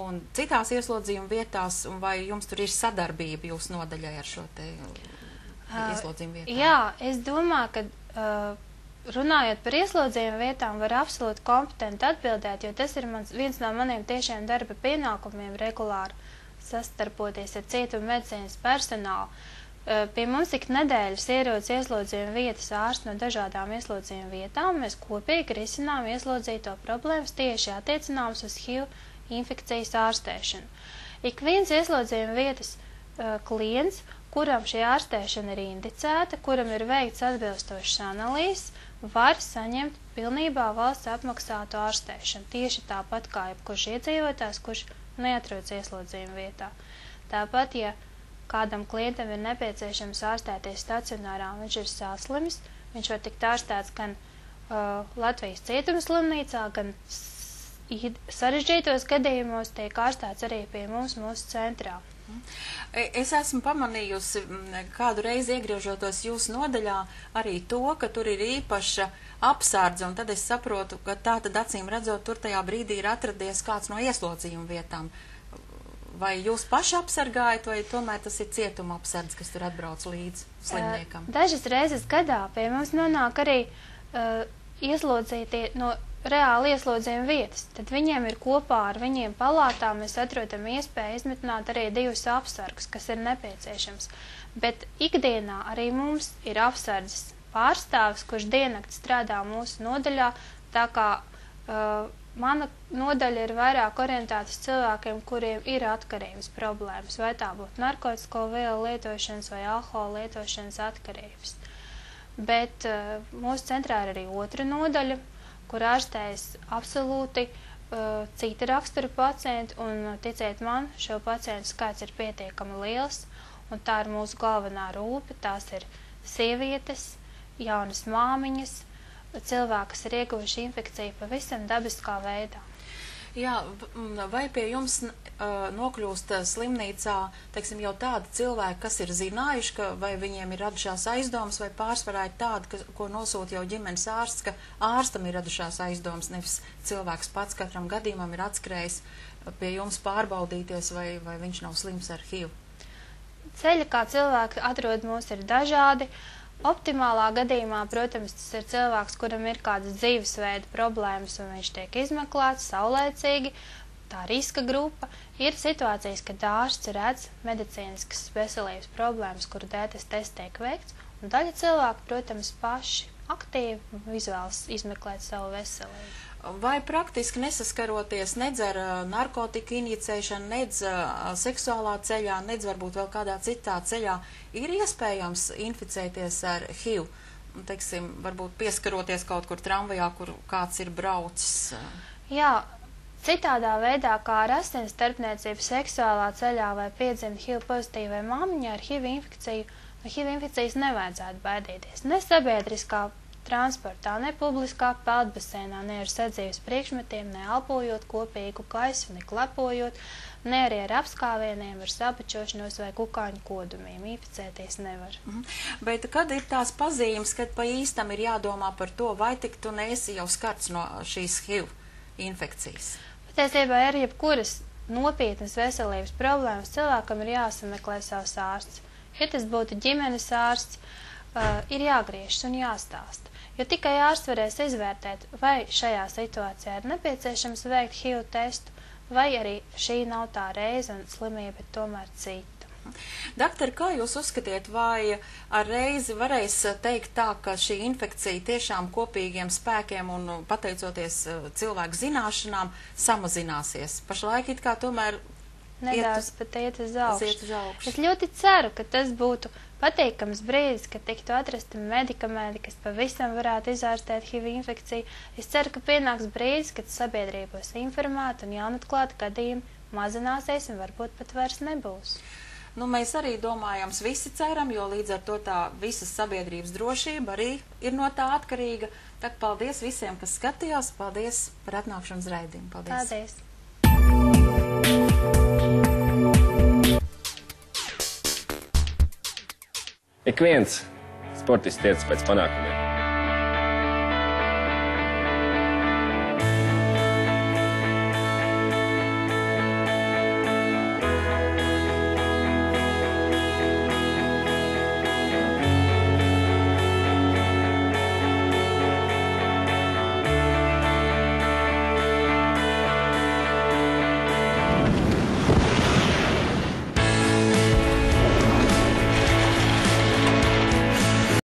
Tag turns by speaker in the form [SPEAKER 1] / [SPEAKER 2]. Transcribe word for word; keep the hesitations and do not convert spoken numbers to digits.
[SPEAKER 1] un citās ieslodzījuma vietās, un vai jums tur ir sadarbība jūsu nodaļai ar šo te ieslodzījuma vietām?
[SPEAKER 2] Jā, es domāju, ka uh, runājot par ieslodzījuma vietām, var absolūti kompetenti atbildēt, jo tas ir mans, viens no maniem tiešiem darba pienākumiem regulāri sastarpoties ar cietumu medicīnas personālu. Pie mums ik nedēļas ierodas ieslodzījuma vietas ārsti no dažādām ieslodzījuma vietām. Mēs kopīgi risinām ieslodzīto problēmas tieši attiecināmas uz H I V infekcijas ārstēšanu. Ik viens ieslodzījuma vietas uh, klients, kuram šī ārstēšana ir indicēta, kuram ir veikts atbilstošas analīzes, var saņemt pilnībā valsts apmaksātu ārstēšanu. Tieši tāpat kā jebkurš iedzīvotājs, kurš neatrodas ieslodzījuma vietā. Tāpat, ja kādam klientam ir nepieciešams ārstēties stacionārā, un viņš ir saslims, viņš var tikt ārstēts gan uh, Latvijas cietuma slimnīcā, gan sarežģītos gadījumos tiek ārstēts arī pie mums mūsu centrā.
[SPEAKER 1] Es esmu pamanījusi kādu reizi iegriežotos jūsu nodaļā arī to, ka tur ir īpaša apsardze, un tad es saprotu, ka tā tad acīm redzot, tur tajā brīdī ir atradies kāds no ieslodzījuma vietām. Vai jūs paši apsargājat, vai tomēr tas ir cietuma apsardze, kas tur atbrauc līdz slimniekam?
[SPEAKER 2] Dažas reizes gadā pie mums nonāk arī uh, ieslodzītie no reāli ieslodzījuma vietas. Tad viņiem ir kopā ar viņiem palātā, mēs atrodam iespēju izmitināt arī divus apsargus, kas ir nepieciešams. Bet ikdienā arī mums ir apsardzes pārstāvis, kurš diennakti strādā mūsu nodaļā, tā kā uh, mana nodaļa ir vairāk orientēta uz cilvēkiem, kuriem ir atkarības problēmas, vai tā būtu narkotisko vielu lietošanas vai alkohola lietošanas atkarības. Bet uh, mūsu centrā ir arī otra nodaļa, kur ārstējas absolūti uh, cita rakstura pacienti, un ticiet man, šo pacientu skaits ir pietiekami liels, un tā ir mūsu galvenā rūpe, tās ir sievietes, jaunas māmiņas, cilvēki, kas ir ieguvuši infekciju pavisam dabiskā veidā.
[SPEAKER 1] Jā, vai pie jums uh, nokļūst slimnīcā, teiksim, jau tādi cilvēki, kas ir zinājuši, ka vai viņiem ir radušās aizdomas, vai pārsvarā ir tādi, ka, ko nosūta jau ģimenes ārsts, ka ārstam ir radušās aizdomas, nevis cilvēks pats katram gadījumam ir atskrējis pie jums pārbaudīties, vai, vai viņš nav slims ar H I V?
[SPEAKER 2] Ceļi, kā cilvēki atrod mūs, ir dažādi. Optimālā gadījumā, protams, tas ir cilvēks, kuram ir kādas dzīvesveida problēmas, un viņš tiek izmeklēts saulēcīgi, tā riska grupa. Ir situācijas, kad ārsts redz medicīniskas veselības problēmas, kuru dēļ tas tests tiek veikts, un daļa cilvēku, protams, paši aktīvi izvēlas izmeklēt savu veselību.
[SPEAKER 1] Vai praktiski nesaskaroties nedz ar narkotiku injicēšanu, nedz seksuālā ceļā, nedz varbūt vēl kādā citā ceļā, ir iespējams inficēties ar H I V? Teiksim, varbūt pieskaroties kaut kur tramvajā, kur kāds ir braucis?
[SPEAKER 2] Jā, citādā veidā, kā ar asins starpniecību seksuālā ceļā vai piedzimt H I V pozitīvai māmiņai ar H I V infekciju, no H I V infekcijas nevajadzētu baidīties. Ne sabiedriskā transportā, ne publiskā peldbaseinā, ne ar sadzīves priekšmetiem, ne elpojot kopīgu gaisu, ne klepojot, ne arī ar apskāvieniem, ar sapačošanos vai kukaiņu kodumiem. Inficēties nevar.
[SPEAKER 1] Mhm. Bet kad ir tās pazīmes, kad pa īstam ir jādomā par to, vai tik tu neesi jau skarts no šīs H I V infekcijas?
[SPEAKER 2] Patiesībā ir jebkuras nopietnas veselības problēmas, cilvēkam ir jāsameklē savs ārsts. Ja tas būtu ģimenes ārsts, uh, ir jāgriežas un jāstāsta. Jo tikai ārsts varēs izvērtēt, vai šajā situācijā ir nepieciešams veikt H I V testu, vai arī šī nav tā reize un slimība ir tomēr cita.
[SPEAKER 1] Doktor, kā jūs uzskatiet, vai ar reizi varēs teikt tā, ka šī infekcija tiešām kopīgiem spēkiem un pateicoties cilvēku zināšanām samazināsies? Pašlaik it kā tomēr
[SPEAKER 2] nedaudz pat iet uz augšu.
[SPEAKER 1] augšu.
[SPEAKER 2] Es ļoti ceru, ka tas būtu patīkams brīdis, kad tiktu atrasti medikamenti, kas pavisam varētu izārstēt H I V infekciju. Es ceru, ka pienāks brīdis, kad sabiedrība būs informēta un jaunatklāti gadījumi mazināsies un varbūt pat vairs nebūs.
[SPEAKER 1] Nu, mēs arī domājams visi ceram, jo līdz ar to tā visas sabiedrības drošība arī ir no tā atkarīga. Tā paldies visiem, kas skatījās. Paldies par atnākšanu uz raidījumu. Paldies.
[SPEAKER 2] Paldies.
[SPEAKER 3] Ik viens sportists tiecas pēc panākumiem.